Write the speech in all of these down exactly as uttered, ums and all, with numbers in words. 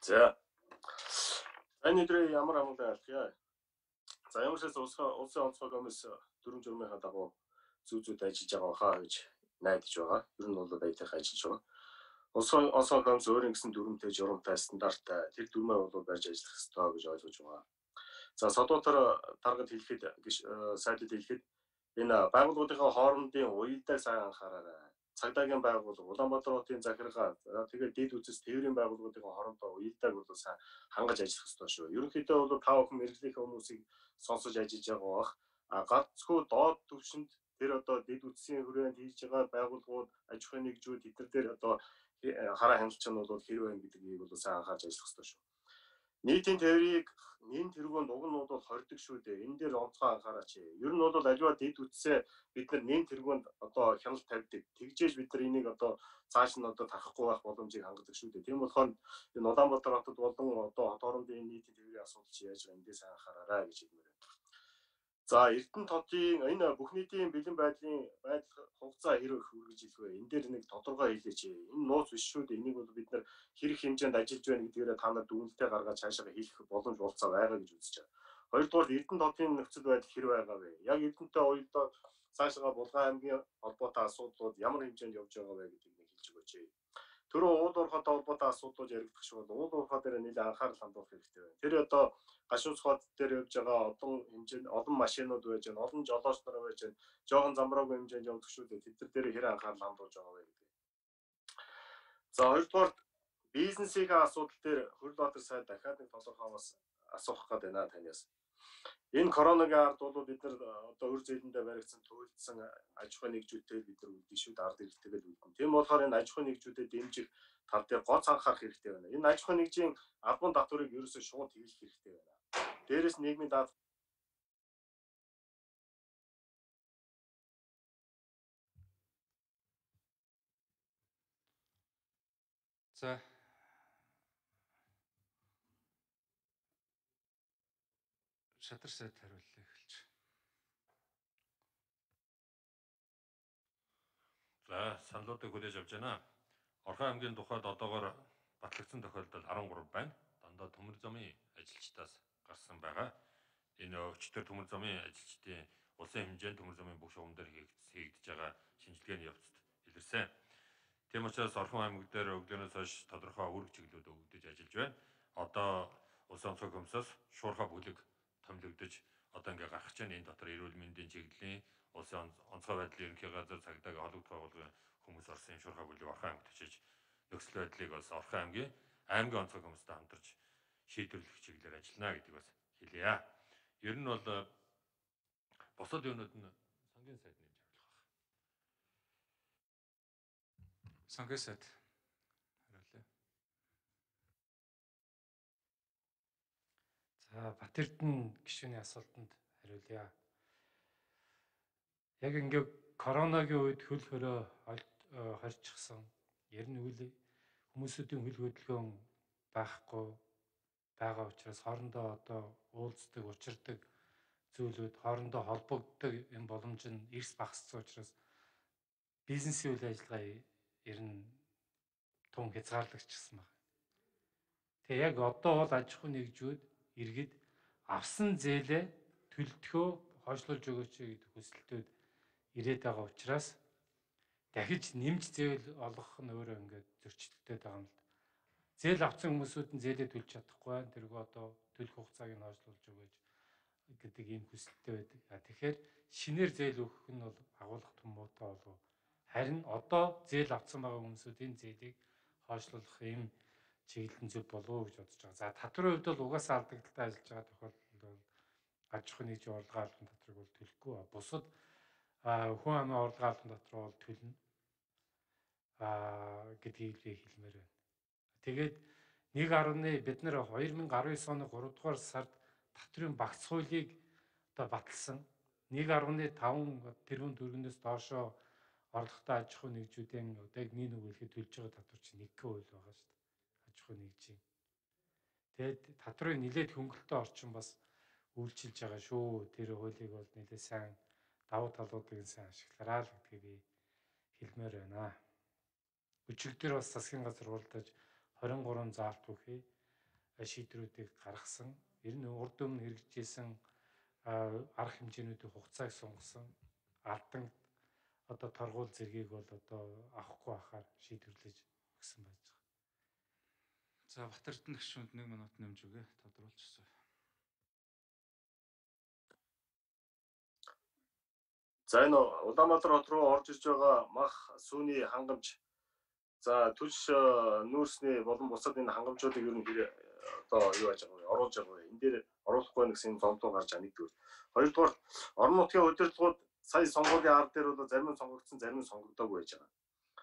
За. Энэ өдрийн ямар амгалан айлтгая. За ямар ч улсын улсын онцгой комисс дүрм журмынхаа дагуу зүү зүүд ажиллаж байгаа хаа гэж найдаж байгаа. Ер нь бол баятайхан ажиллаж байгаа. Улсын онцгой комисс өөрийн гэсэн дүрмтэй, журамтай, стандарттай тэр дүрмээ бол барьж ажиллах ёстой гэж ойлгож байгаа. За содуутар таргад хэлэхэд сайдад хэлэхэд энэ байгууллагуудын хоорондын уялдааг сайн анхаараарай. Цагдаагийн байгууллага, Улаанбаатар хотын захиргаа, тэгээд дэд үзэс тээврийн байгууллагуудын хоорондоо уялдааг бол сайн хангаж ажиллах ёстой шүү. Ерөнхийдөө бол та бүхэн мэрэгжлийн хүмүүсийг сонсож ажиллаж байгаа бах. А ганцгүй доод түвшинд тэр одоо дэд үзсийн хүрээнд хийж байгаа байгууллагууд, аж ахуйн нэгжүүд эдгээр дээр одоо хараа хяналт нь бол хэрэг байна гэдгийг бол сайн анхаарч ажиллах ёстой шүү. Нийтийн тээврийг нэн тэргуунд уг нь бол хордог шүү дээ. Энэ дээр онцгой анхаараач. Ер нь бол аливаа дэд үтсээ бид нар нэн тэргуунд одоо хяналт тавьдаг. Тэгжээж бид нар энийг одоо цааш нь одоо тарахгүй байх боломжийг хангадаг шүү дээ. Тийм болохоор энэ Улаанбаатар хотод болон одоо хот хоорондын нийтийн тээврийн асуудал чи яаж байгаа эндээс анхаараарай гэж хэлмээр байна. За Эрдэнэт хотын энэ бүх нийтийн бэлэн байдлын байдал хугацаа хэрэг хүргэж илвэ. Энэ дээр нэг тодорхой хэлээч. Энэ нууц биш шүү дээ. Энийг бол бид нар хэрэг хэмжээнд ажиллаж байна гэдгээр та нар дүгнэлтээ гаргаж цаашаа хийх боломж болцоо байгаа гэж үзэж байгаа. Хоёрдугаар Эрдэнэт хотын нөхцөл байдал хэрэг байгаа вэ? Яг Эрдэнэтэй уялдаа цаашаа Булган аймгийн холбоотой асуудлууд ямар хэмжээнд явж байгаа вэ гэдгийг нэг хэлж өгөөч. Түрүү уул уурхайтай холбоотой асуудлууд яригдах шиг бол уул уурхай дээр нэлээд анхаарал хандуулах хэрэгтэй байна. Тэр одоо гашуус хот дээр явж байгаа олон хэмжээнд олон машинууд байж байна, олон жолооч нар байж байна, жоохон замбраагүй хэмжээнд явдаг шүү дээ. Тэд нар дээр хэрэг анхаарал хандуулж байгаа вэ гэдэг. За хоёрдугаар бизнесийн асуудал дээр Хөрлбаатар сайд дахиад нэг тодорхой бас асуух гээд байна танаас. Энэ коронавигийн ард бол бид нар одоо өр зээлэндээ баригдсан туйлдсан аж ахуйн нэгжүүдтэй бид нар үлдэн шүү, ард иргэдтэйгээ үлдэн. Тийм болохоор энэ аж ахуйн нэгжүүдэд дэмжих тал дээр гоц анхаарах хэрэгтэй байна. Энэ аж ахуйн нэгжийн албан татварыг ерөөсөө шууд хэвлэх хэрэгтэй байна. Дээрээс нийгмийн даатгал За шатар сайд хариуллаа эхэлж. За саналуудыг хүлээж авч байна. Орхон аймгийн тухайд одоогоор батлагдсан тохиолдол арван гурав байна. Дандаа төмөр замын ажилчдаас гарсан байгаа. Энэ өчтөр төмөр замын ажилчдын улсын хэмжээнд төмөр замын бүх шугам дээр хийгдэж байгаа шинжилгээний явцад илэрсэн. Тийм учраас Орхон аймаг дээр өглөөнөөс хойш тодорхой үүрэг чиглэлүүд өгөгдөж ажиллаж байна. Одоо улсын онцгой комиссоос шуурхай бүлэг томилогдож одоо ингээ гарах чинь энэ дотор эрүүл мэндийн чиглэлийн улсын онцгой байдлын ерөнхий газар цагдаагийн холбогд байгууллагын хүмүүс орсон шуурхай бүлэг Орхон аймагт очиж нөхцөл байдлыг бас Орхон аймгийн аймгийн онцгой комисстай хамтарч шийдвэрлэх чиглэлээр ажиллана гэдэг бас хэлье. Ер нь бол босод юунууд нь сангийн сайд нэмж хариулах байх. Сангийн сайд хариулъя. За Батэрдэн гишүүний асуултанд хариулъя. Яг ингээ коронагийн үед хөл хөрөө хорчихсан. Ер нь үл хүмүүсийн хөл хөдөлгөөн байхгүй байгаа учраас хоорондоо одоо уулздаг, учирдаг зүйлүүд хоорондоо холбогддог энэ боломж нь эрс багассан учраас бизнесийн үйл ажиллагаа ер нь тун хязгаарлагдчихсан байна. Тэгээ яг одоо бол аж ахуйн нэгжүүд иргэд авсан зээлээ төлтгөө хойшлуулж өгөөч гэдэг хүсэлтүүд ирээд байгаа учраас дахиж нэмж зээл олгох нь өөрөө ингээд зөрчилдтэй байгаа юм л да. Зээл авсан хүмүүсүүд нь зээлээ төлж чадахгүй байна. Тэргүй одоо төлөх хугацааг нь хойшлуулж өгөөч гэдэг ийм хүсэлттэй байдаг. А тэгэхээр шинээр зээл өгөх нь бол агуулга том муутай болов. Харин одоо зээл авсан байгаа хүмүүсүүд энэ зээлийг хойшлуулах ийм чиглэлэн зөв болов гэж бодож байгаа. За татварын хувьд бол угаасаа алдагдaltaй ажиллаж байгаа тохиолдолд бол аж ахуйн нэгжийн орлогын албан татварыг бол төлөхгүй. Бусад хүн амын орлогын албан татвар бол төлнө а гэдгийг хэлмээр байна. Тэгээд нэг гаруй бид нэр хоёр мянга арван девять оны гурав дугаар сард татврын багц хуулийг одоо баталсан. нэг гаруй таван тэрбум төгрөгнөөс доошоо орлоготой аж ахуйн нэгжүүдийн одоо яг нэг нүгэлэхэд төлж байгаа татвар чинь нэг хувь байгаа шүү дээ. Аж ахуйн нэгжийн. Тэгээд татврын нэлээд хөнгөлөлтөө орчин бас үйлчилж байгаа шүү. Тэр хуулийг бол нэлээд сайн давуу талуудыг сайн ашиглараа л гэдгийг би хэлмээр байна. Өчигдөр бас засгийн газар уралдаж двадцать три заалт өгье. шийдвэрүүдийг гаргасан. Ер нь урд өмнө хэрэгжижсэн арга хэмжээнүүдийн хугацааг сунгасан алдан одоо торгуул зэргийг бол одоо авахгүй байхаар шийдвэрлэж өгсөн байж байгаа. За Бат Эрдэнэ гишүүнд нэг минут нэмж өгье. Тодруулчихсан. За энэ Улаанбаатар хот руу орж ирж байгаа мах сүүний хангамж, за түлш нүүрсний болон бусад энэ хангамжуудыг ер нь одоо юу яаж байгаа вэ? Оруулж байгаа вэ? Энэ дээр оруулахгүй гэсэн зомтоо гарч байгаа нэгдүгээр. Хоёрдугаар, орон нутгийн удирдлагууд сая сонгуулийн ард дээр бол зарим нь сонгогдсон, зарим нь сонгогдоогүй байж байгаа.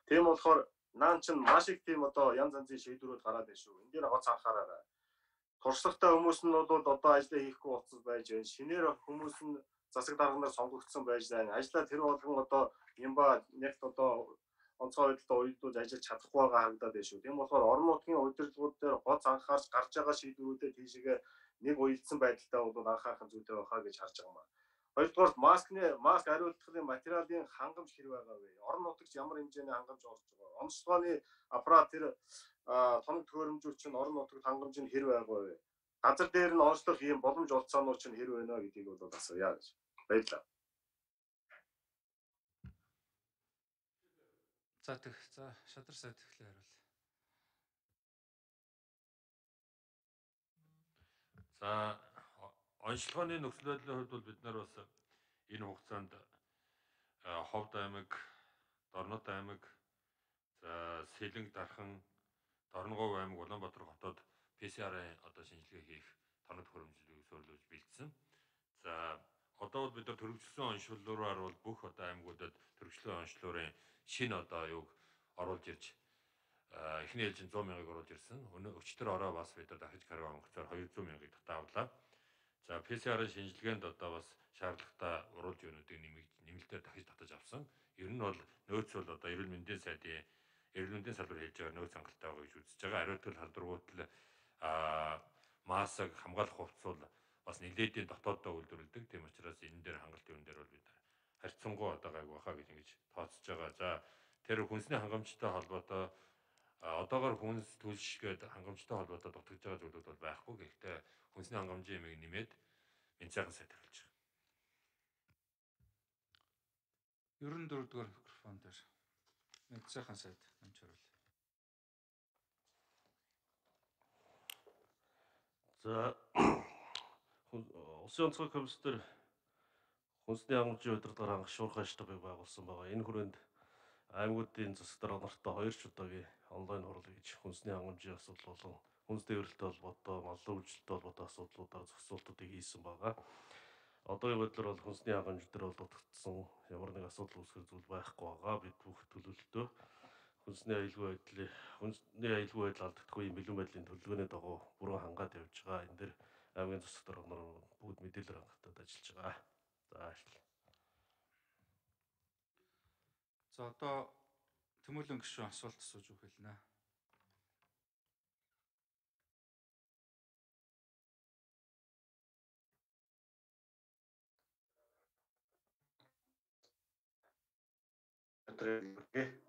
Тийм болохоор наан чинь маш их тийм одоо янз янзын шийдвэрүүд гараад байна шүү. Энэ дээр гоц анхаараарай. Туршлагатай хүмүүс нь бол одоо ажиллаа хийхгүй болцсон байж байна. Шинээр хүмүүс нь засаг дарганаар сонгогдсон байж байна. Ажлаа тэр болгон одоо юмба нэгт одоо онцгой байдлаа уялдуулж ажиллаж чадахгүй байгаа харагдаад байна шүү. Тийм болохоор орон нутгийн удирдлагууд дээр гоц анхаарч гарч байгаа шийдвэрүүдэд тийшээ нэг уялдсан байдалтай бол анхаарах зүйтэй байхаа гэж харж байгаа юм. Хоёрдугаар, маскны маск хариултлын материалын хангамж хэрэг байгаа вэ? Орон нутагт ямар хэмжээний хангамж орж байгаа? Онцлогооны аппарат тэр тоног төхөөрөмжүүд чинь орон нутагт хангамж нь хэрэг байгаа вэ? Газар дээр нь онцлох ийм боломж олцоонууд чинь хэрэг байна гэдгийг бол асууя гэж. Баярлалаа. За тэг. За Шадар сайд эхлээ хариул. За онцлогооны нөхцөл байдлын хувьд бол бид нар бас энэ хугацаанд Ховд аймаг, Дорнод аймаг, за Сэлэнг, Дархан, Дорногов аймаг, Улаанбаатар хотод пэ цэ эр-ийн одоо шинжилгээ хийх тоног төхөөрөмжлөлийг суурилуулж бэлдсэн. За одоо бол бид нар төрөвчлсөн онцлогоор бол бүх одоо аймагуудад төрөвчлөө онцлогын шинэ одоо юуг оруулж ирж эхний ээлжинд сто мянгаыг оруулж ирсэн. Өчтөр ороо бас бид нар дахиж карго онгоцоор двести мянгаыг татаавлаа. За пэ цэ эр-ийн шинжилгээнд одоо бас шаардлагатай уруулж өгнүүдийг нэмэлтээр дахиж татаж авсан. Ер нь бол нөөц бол одоо эрүүл мэндийн сайдын эрүүл мэндийн салбар хийж байгаа нөөц хангалттай байгаа гэж үзэж байгаа. Ариутгал халдваргуутал маск хамгаалах хувцс бол бас нэлээдийн дотооддоо үйлдвэрлэдэг. Тийм учраас энэ дээр хангалт юун дээр бол бид харьцангуй одоо гайг баха гэж ингэж тооцож байгаа. За тэр хүнсний хангамжтай холбоотой одоогоор хүнс түлш гэдэг хангамжтай холбоотой дутагдж байгаа зүйлүүд бол байхгүй. Гэхдээ хүнсний хангамжийн ямиг нэмээд энэ сайхан сайд харуулж байгаа. ерөн дөрөв дугаар микрофон дээр нэг сайхан сайд намж харуул. За улсын онцгой комиссээр хүнсний хангамжийн удирдлагаар хангах шуурхай штабыг байгуулсан байгаа. Энэ хүрээнд аймагуудын засаг дарга нартай хоёр ч удаагийн онлайн хурал хийж хүнсний хангамжийн асуудал болон хүнс тээвэрлэлтэй холбоотой, маллын үйлчлэлтэй холбоотой асуудлуудаар зохицуултуудыг хийсэн байгаа. Одоогийн байдлаар бол хүнсний хангамж дээр бол дутагдсан ямар нэг асуудал үүсгэх зүйл байхгүй байгаа. Бид бүх төлөвлөлтөө хүнсний аюулгүй байдлыг хүнсний аюулгүй байдал алдагдахгүй бэлэн байдлын төлөвлөгөөний дагуу бүрэн хангаад явж байгаа. Энэ дээр аймгийн засаг дарга нар бүгд мэдээлэл хангалтад ажиллаж байгаа. За ашиг. За одоо Тэмүүлэн гишүүн асуулт асууж өгөх хэлнэ. өдрөө